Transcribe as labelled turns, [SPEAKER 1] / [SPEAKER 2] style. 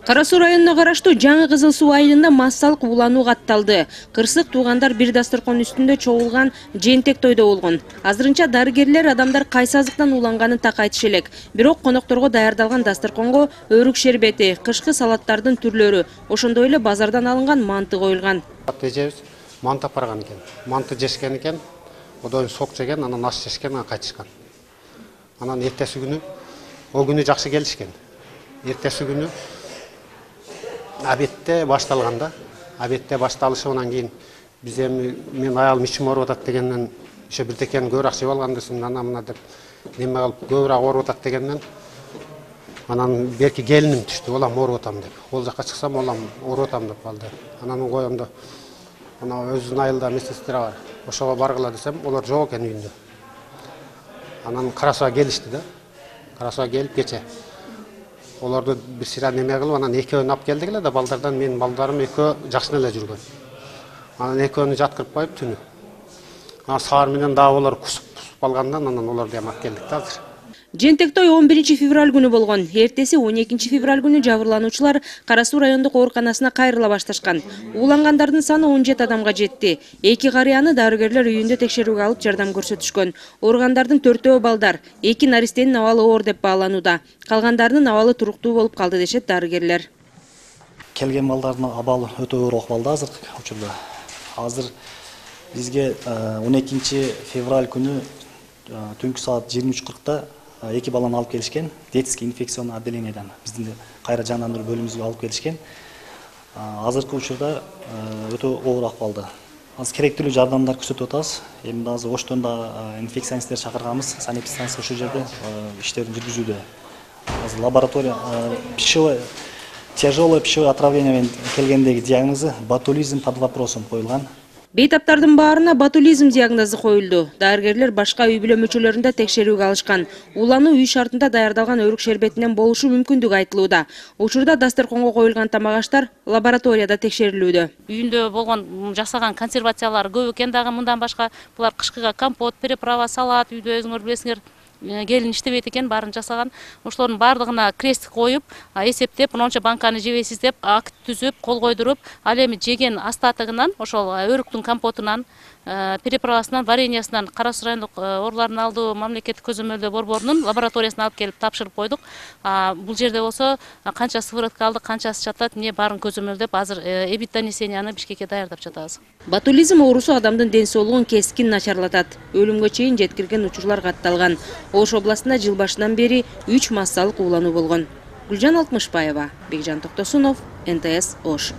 [SPEAKER 1] Кара Суу районуна караштуу Жаңы Кызыл Суу айылында массалык уулануу катталды. Кырсык туугандар бир дасторкон үстүндө чогулган жээнтек тойдо болгон. Азырынча дарыгерлер адамдар кайсы азыктан ууланганын так айтыш элек. Бирок конокторго даярдалган дасторконго өрүк шербети, кышкы салаттардын түрлөрү, ошондой эле базардан алынган манты коюлган.
[SPEAKER 2] Эжебиз манты алып барган экен. Манты жешкен экен, одон сок жеген, анан аш жешкен, анан кайтышкан. Анан эртеси күнү, о күнү жакшы келишкен. Эртеси күнү абетте башталганда, абетте башталышы анан кийин биз эми мен аялым ичим ооруп атат дегенден ошо бирдекени көбүрөөк жеп алган десем, ана мына деп неме кылып көбүрөөк ооруп атат дегенден анан берки келиним түштү, олам ооруп атам деп. Ол жакка чыксам олам ооруп атам деп калды. Анан коемдо ана өзүнүн айылда медсестра бар. Ошого баргыла десем, олар жок экен үйүндө. Анан Кара Сууга келишти да. Кара Сууга келип кече оларды бир сыйра неме кылып, анан экөөнү алып келдик эле да, балдардан менин балдарым экөө жакшы эле жүргөн. Анан экөөнү жаткырып коюп түнү. Анан саар менен дагы олар кусуп калгандан анан оларды алып келдик да азыр.
[SPEAKER 1] Жээнтек той 11 февраль күнү болгон. Эртеси 12 февраль күнү жабырлануучулар Кара Суу райондук ооруканасына кайрыла башташкан. Уулангандардын саны 17 адамга жетти. 2 карыяны дарыгерлер үйүндө текшерүүгө алып жардам көрсөтүшкөн. Ооругандардын 4-өө балдар, 2 наристенин абалы оор деп бааланууда. Калгандарынын абалы туруктуу болуп калды дешет дарыгерлер.
[SPEAKER 3] Келген балдардын абалы өтө оор акыбалда азыркы учурда. Азыр бизге 12 февраль күнү түнкү саат 23:40 2 баланы алып келишкен, детский инфекционный отделениеден биздин кайра жандандыруу бөлүмүбүзгө алып келишкен. Азыркы учурда өтө оор акыбалда. Азыр керектүү жардамдар көрсөтүп атабыз. Эми азыр Оштон да инфекционисттер чакырганбыз, санэпидстанция ошол жерде иштерин жүргүзүүдө. Азыр лаборатория тяжелое пищевое отравление менен келгендеги диагнозу ботулизм под вопросом коюлган.
[SPEAKER 1] Бейтаптардын баарына ботулизм диагнозу коюлду. Дарыгерлер башка үй бүлө мүчөлөрүндө текшерүүгө алышкан. Уулануу үй шартында даярдалган өрүк шербетинен болушу мүмкүндүгү айтылууда. Учурда дасторконго коюлган тамак-аштар лабораторияда текшерилүүдө.
[SPEAKER 4] Үйүндө болгон жасаган консервациялар көп экен, дагы мындан башка булар кышкыга компот, приправа, салат, үйдө өзүңөр билесиңер, келин иштебейт экен, баарын жасаган. Ошолордун баардыгына крест коюп, эсептеп, мынча банканы жебейсиз деп акт түзүп, кол койдуруп, ал эми жеген астатыгынан, ошол өрүктүн компотунан, приправасынан, вареньясынан Кара Суу райондук оорулардын алдоо мамлекеттик көзөмөлдөө борборунун лабораториясына алып келип тапшырып койдук. Бул жерде болсо канча сыворотка алдык, канчасы жатат, эмне баарын көзөмөлдөп, азыр эбит-донесенияны Бишкекке даярдап жатабыз.
[SPEAKER 1] Ботулизм оорусу адамдын ден соолугун кескин начарлатат. Өлүмгө чейин жеткирген учурлар катталган. Ош областында жыл башынан бери 3 массалык уулануу болгон. Гүлжан Алтмышбаева, Бекжан Токтосунов, НТС Ош.